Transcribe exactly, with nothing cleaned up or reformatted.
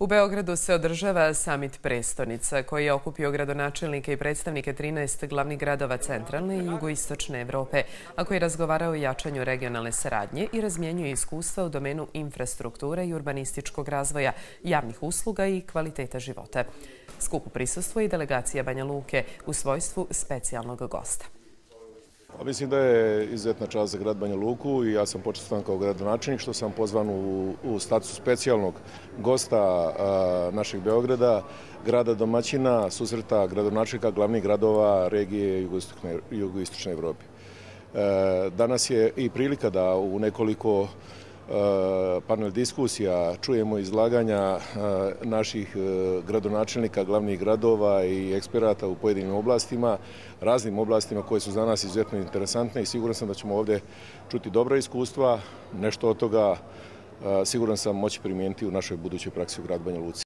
U Beogradu se održava Samit prestonica koji je okupio gradonačelnike i predstavnike trinaest glavnih gradova centralne i jugoistočne Evrope, a koji razgovarao o jačanju regionalne saradnje i razmjenjuje iskustva u domenu infrastrukture i urbanističkog razvoja, javnih usluga i kvaliteta života. Skupu prisustvuje i delegacija Banja Luke u svojstvu specijalnog gosta. Mislim da je izuzetna čast za grad Banja Luku i ja sam počastvovan kao gradonačelnik što sam pozvan u, u statusu specijalnog gosta a, našeg Beograda, grada domaćina, susreta gradonačelnika glavnih gradova regije jugoistočne, jugoistočne Evrope. E, danas je i prilika da u nekoliko panel diskusija čujemo izlaganja naših gradonačelnika glavnih gradova i eksperata u pojedinim oblastima, raznim oblastima koje su za nas izuzetno interesantne i siguran sam da ćemo ovdje čuti dobra iskustva, nešto od toga siguran sam moći primijeniti u našoj budućoj praksi u gradu Banja Luci.